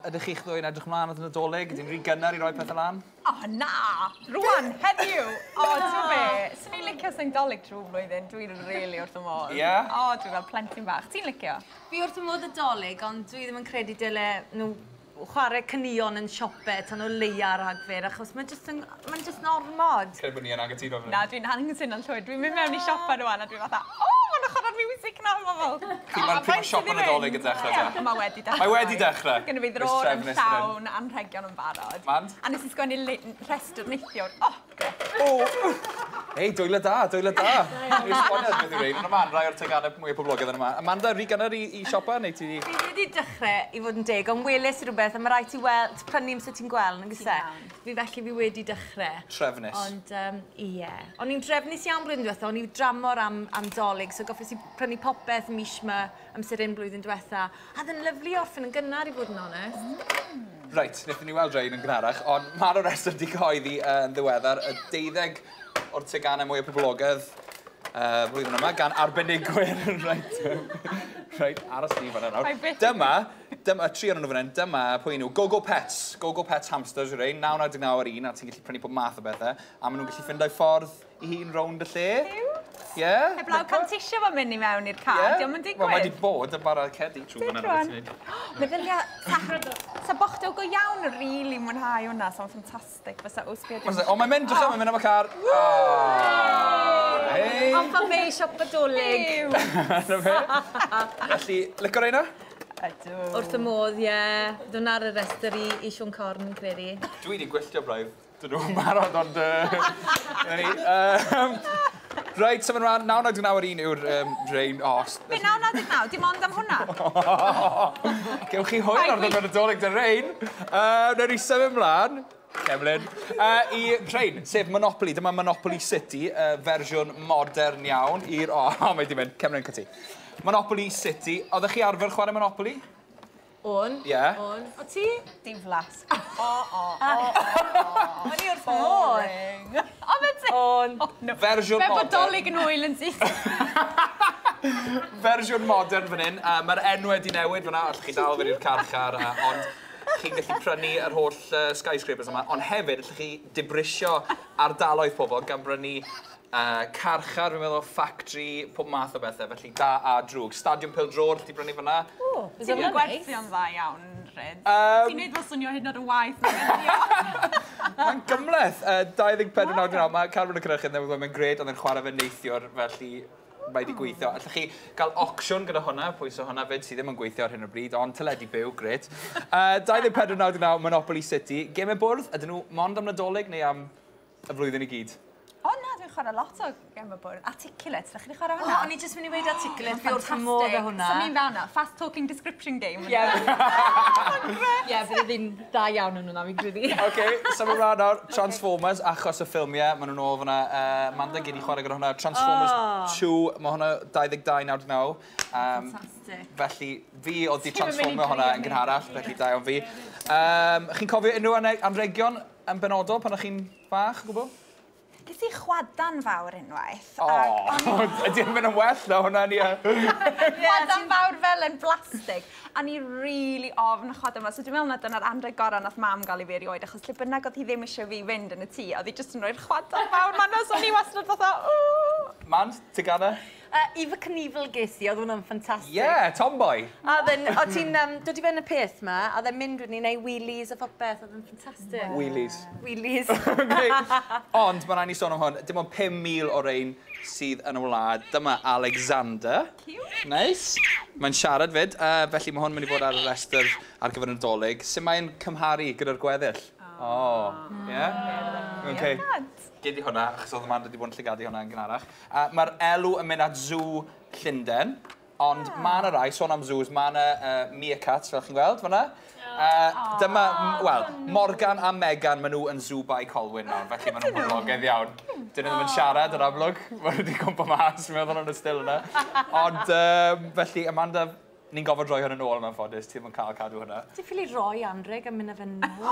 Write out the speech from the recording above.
Ydych chi'ch ddwy'n edrych mlaen at y Nadolig? Ydy'n rhy gynnar i roi pethau lan? O, na! Rwan, heddiw! O, ti'n be? Swn i'n licio sy'n Dolig trwy flwyddyn. Dwi'n rili wrth y modd. Ie? O, dwi'n fel plentyn bach. Ti'n licio? Fi wrth y modd y Dolig, ond dwi ddim yn credu dyle nhw chwarae caneuon yn siope tan o leia Rhagfyr, achos mae'n just yn, mae'n just yn ormod. Credu bod ni yn anghytuno fan hyn. Na, dwi'n anghytuno'n llwyr. Dwi'n mynd mewn i siopa rwan a dwi'n fatha, o, ma'n chwarae'r music na, ma' fel. Pryd ma'r siopa Nadolig yn dechrau te? Mae wedi dechrau. Mae wedi dechrau? Gynna fi ddrôr yn llawn anrhegion yn barod. Mand? A nes i sgwennu rhestr neithiwr. O, grêt. O! Hei, dwylo da, dwylo da. Dwi'n esboniad beth yw rhein. Ond Amanda, rai o'r teganau mwyaf poblogaidd yn yma. Amanda, rhy gynnar i siopa, neu ti... Fi wedi dechrau i fod yn deg, ond weles i rhywbeth, a mae rhaid ti weld, prynu amser ti'n gweld, nag oes e? Fi felly fi wedi dechrau. Trefnus. Ond, ie. O'n i'n drefnus iawn blwyddyn diwetha, o'n i dramor am Dolig, so goffes i prynu popeth mis yma amser un blwyddyn diwetha. A oedd yn lyfli orffen yn gynnar i fod yn onest. Reit, wnaethon ni weld rhain yn gynharach, ond mae'r rhestr wedi cyhoeddi yn ddiweddar, y 12 o'r teganau mwyaf poblogaidd flwyddyn yma, gan arbenigwyr. Reit, reit, aros ni fan'na nawr. Dyma, tri o'n nhw fan hyn, dyma pwy nhw, Gogo Pets, Gogo Pets hamsters yw rhein, 9.99 ar un, a ti'n gallu prynu pob math o bethau, a maen nhw'n gallu ffindo'u ffordd i hun rownd y lle. Ie. Heblaw cantisio fo'n mynd i mewn i'r car, dio'm yn digwydd. Wel, mae wedi bod yn bara cedi trwy fan yna. Meddylia, sa bochdo go iawn yn rili mwynhau hwnna, sa'n ffantastig, fysa wsbio... O, mae'n mynd, drycha, mae'n mynd am y car. Hei! Ond fan fe i siop Nadolig. Felly, licio reina? Ydw. Wrth y modd, ie. Dwi'n ar y rhestr i Siôn Corn, yn credu. Dwi wedi gwylltio braidd. Dyn nhw'n barod, ond... Reit, symud ymlaen, 9.99 ar un yw'r rhain. Be, 9.99? Dim ond am hwnna? Gewch chi hwyl ar ddod Nadolig dy rhain. Wnawn ni symud ymlaen, Cemlyn, i rhain, sef Monopoly. Dyma Monopoly City, fersiwn modern iawn i'r... O, mae di mynd, Cemlyn, cyti. Monopoly City. Oeddech chi arfer chwarae Monopoly? O'n. Ie. O'n. O ti? Diflas. O, o, o, o. O'n i wrth modd. O, fe ti? O'n. Fersiwn modern. Fe bodolig yn hwyl yn syth. Fersiwn modern fan hyn. Mae'r enw wedi newid fan'na. Allwch chi dal fynd i'r carchar, ond chi'n gallu prynu yr holl skyscrapers yma. Ond hefyd, allwch chi dibrisio ardaloedd pobl gan brynu carchar, fi'n meddwl, factory, pob math o bethau, felly da a drwg. Stadiwm Pêl-droed, allwch chi brynu fan'na. O, ti'n gwerthio'n dda iawn, Rhyd. Ti'n neud fel swnio hyd yn oed yn waeth na beth. Mae'n gymhleth. 24.99, mae Carwyn y Cynhyrchydd newydd ddweud, mae'n grêt, oedd e'n chwarae fe neithiwr, felly mae wedi gweithio. Allwch chi gael auction gyda hwnna, pwys o hwnna fyd, sydd ddim yn gweithio ar hyn o bryd, ond teledu byw, grêt. 24.99, Monopoly City. Gemau bwrdd, ydyn nhw mond am Nadolig neu am y flwyddyn i gyd? O na, dwi'n chwarae lot o gemau bwrdd. Articulate, ydych chi'n chwarae hwnna? O, o'n i jyst mynd i weud Articulate, fi wrth fy modd â hwnna. So ni'n fel hwnna, fast talking description game. Ie. Ie, bydde fi'n dda iawn yn hwnna, fi'n credu. Oce, symud ymlaen nawr. Transformers, achos y ffilmiau, maen nhw'n ôl fan'na. Amanda, gei di chwarae gyda hwnna. Transformers 2, mae hwnna 22.99. Fantastic. Felly, fi oedd di transformio hwnna yn gynharach, felly da iawn fi. Chi'n cofio unrhyw anregion yn benodol pan o'ch chi'n fach, o gwbl? Ges i chwadan fawr unwaith. O, ydy yn mynd yn well na hwnna ni. Chwadan fawr fel yn blastig. A ni rili ofn chwadan fawr. So dwi'n meddwl na dyna'r anrheg gorau nath mam gael i fi erioed, achos lle bynnag oedd hi ddim eisiau fi fynd yn y tŷ, oedd hi jyst yn rhoi'r chwadan fawr ma' 'na, so o'n i wastad fatha, ww. Mand, tegana? Evel Knievel ges i, oedd hwnna'n ffantastig. Ie, tomboy. A then, o ti'n dod i fewn y peth ma, a then mynd wedyn i neud wheelies a phopeth, oedd yn ffantastig. Wheelies. Wheelies. Ond, mae rhaid ni sôn am hwn, dim ond 5,000 o rein sydd yn y wlad. Dyma Alexander. Cute. Nice. Mae'n siarad fyd, felly mae hwn mynd i fod ar y rhestr ar gyfer y Nadolig. Sut mae'n cymharu gyda'r gweddill? O, ie? Okay. Gei di hwnna, achos oedd Amanda wedi bod yn llygadu hwnna yn gynharach. Mae'r elw yn mynd at Zoo Llundain, ond mae yna rai, sôn am zoos, mae yna meerkats, fel chi'n gweld fan'na. Dyma, wel, Morgan a Megan, maen nhw yn Zoo by Colwyn nawr, felly maen nhw'n poblogaidd iawn. Dyn nhw ddim yn siarad yn amlwg, maen nhw wedi cwmpo mas, fi'n meddwl yn y still yna. Ond, felly, Amanda, ni'n gofod rhoi hwn yn ôl yn anffodus, ti ddim yn cael cadw hwnna. Ti'n ffili roi anrheg am mynd â fe nôl?